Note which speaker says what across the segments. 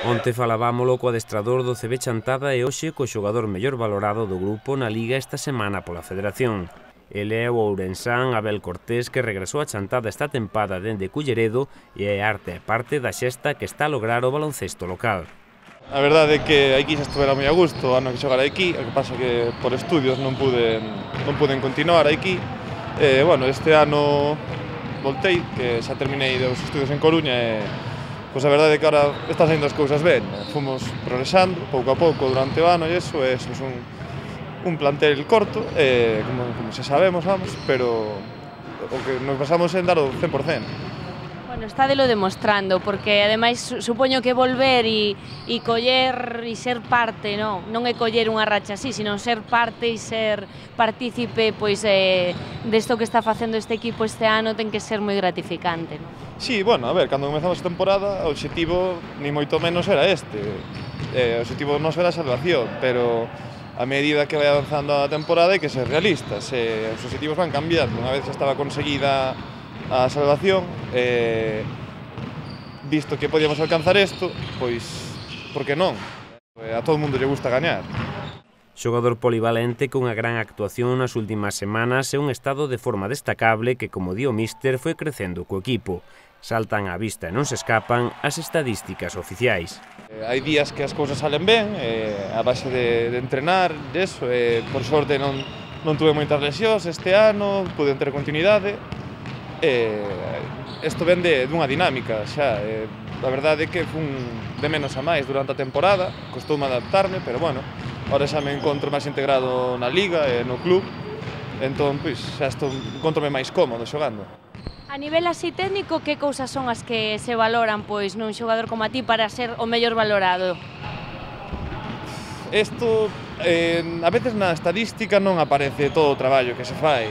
Speaker 1: Onte falabámolo co adestrador do CB Chantada e hoxe co xogador mellor valorado do grupo na Liga esta semana pola Federación. Ele é o ourensán Abel Cortés, que regresou a Chantada esta tempada dende Culleredo e é arte e parte da xesta que está a lograr o baloncesto local.
Speaker 2: A verdade é que aquí xa estuvera moi a gusto, o ano que xogara aquí, o que pasa que por estudios non puden continuar aquí. Bueno, este ano voltei, que xa terminei os estudios en Coruña e pois a verdade é que agora están saindo as cousas ben. Fomos progresando pouco a pouco durante o ano e eso é un plantel corto, como xa sabemos, vamos, pero o que nos basamos en dar o 100%.
Speaker 3: Bueno, estádelo demostrando, porque ademais supoño que volver e coller e ser parte, non é coller unha racha así, sino ser parte e ser partícipe pois desto que está facendo este equipo este ano ten que ser moi gratificante, non?
Speaker 2: Sí, bueno, a ver, cando comezamos a temporada o obxectivo ni moito menos era este. O obxectivo noso era a salvación, pero a medida que vai avanzando a temporada hai que ser realistas. Os obxectivos van cambiando. Unha vez xa estaba conseguida a salvación, visto que podíamos alcanzar isto, pois, por que non? A todo o mundo lle gusta gañar.
Speaker 1: Xogador polivalente cunha gran actuación nas últimas semanas e un estado de forma destacable que, como di o míster, foi crecendo co equipo. Saltan á vista e non se escapan as estadísticas oficiais.
Speaker 2: Hai días que as cousas salen ben, a base de entrenar, deso, por sorte non tuve moitas lesións este ano, pude ter continuidade. Isto ven dunha dinámica xa, a verdade é que fun de menos a máis durante a temporada, costoume adaptarme, pero bueno, ahora xa me encontro máis integrado na Liga e no club, entón pois xa encontro-me máis cómodo xogando.
Speaker 3: A nivel así técnico, que cousas son as que se valoran pois nun xogador como a ti para ser o mellor valorado?
Speaker 2: Isto, a veces na estadística non aparece todo o traballo que se fai.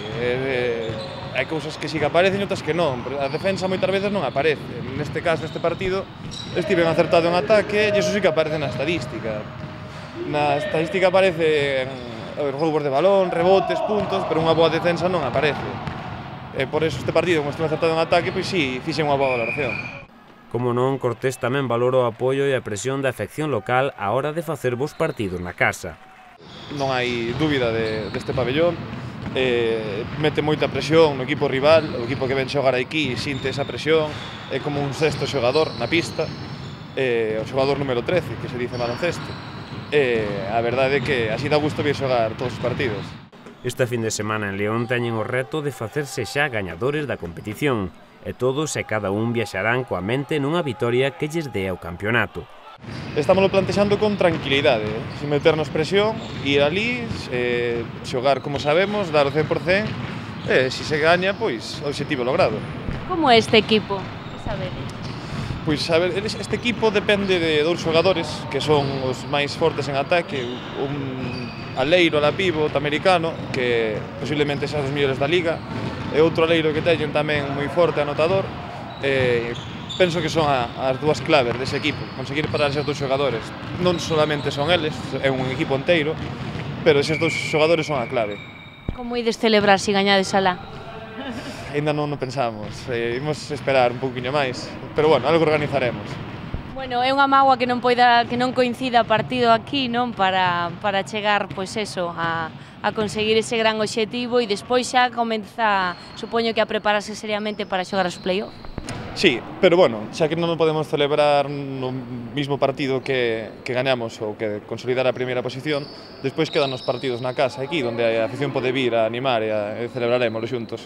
Speaker 2: Hai cousas que sí que aparecen e outras que non. A defensa moitas veces non aparece. Neste caso, neste partido, estiven acertado en ataque e iso sí que aparece na estadística. Na estadística aparecen roubos de balón, rebotes, puntos, pero unha boa defensa non aparece. Por eso este partido, como estuve acertado en ataque, pois sí, fixe unha boa valoración.
Speaker 1: Como non, Cortés tamén valora o apoio e a presión da afección local á hora de facer vos partidos na casa.
Speaker 2: Non hai dúbida deste pabellón, mete moita presión no equipo rival, o equipo que ven xogar aquí sinte esa presión, é como un sexto xogador na pista, o xogador número 13, que se dice baloncesto. A verdade é que así dá gusto vir xogar todos os partidos.
Speaker 1: Esta fin de semana en León teñen o reto de facerse xa gañadores da competición, e todos e cada un viaxarán coa mente nunha vitoria que lles dea o campeonato.
Speaker 2: Estámoslo plantexando con tranquilidade, sin meternos presión, ir ali, xogar como sabemos, dar o 100%, e se se gaña, pois, o obxectivo logrado.
Speaker 3: Como é este equipo? Que sabedes?
Speaker 2: Pois, a ver, este equipo depende de dous xogadores que son os máis fortes en ataque, un aleiro ala pivot americano, que posiblemente xa dos mellores da Liga, e outro aleiro que teñen tamén moi forte anotador. Penso que son as dúas claves dese equipo, conseguir parar eses dous xogadores. Non solamente son eles, é un equipo inteiro, pero eses dous xogadores son a clave.
Speaker 3: Como ides celebrar se gañades alá?
Speaker 2: Ainda non o pensamos, imos esperar un pouquiño máis, pero bueno, algo organizaremos.
Speaker 3: Bueno, é unha mágoa que non coincida partido aquí, non, para chegar, pois eso, a conseguir ese gran obxectivo e despois xa comeza, supoño que a prepararse seriamente para xogar os play-off.
Speaker 2: Sí, pero bueno, xa que non podemos celebrar no mismo partido que gañamos ou que consolidar a primeira posición, despois quedan os partidos na casa aquí, onde a afición pode vir a animar e celebraremos xuntos.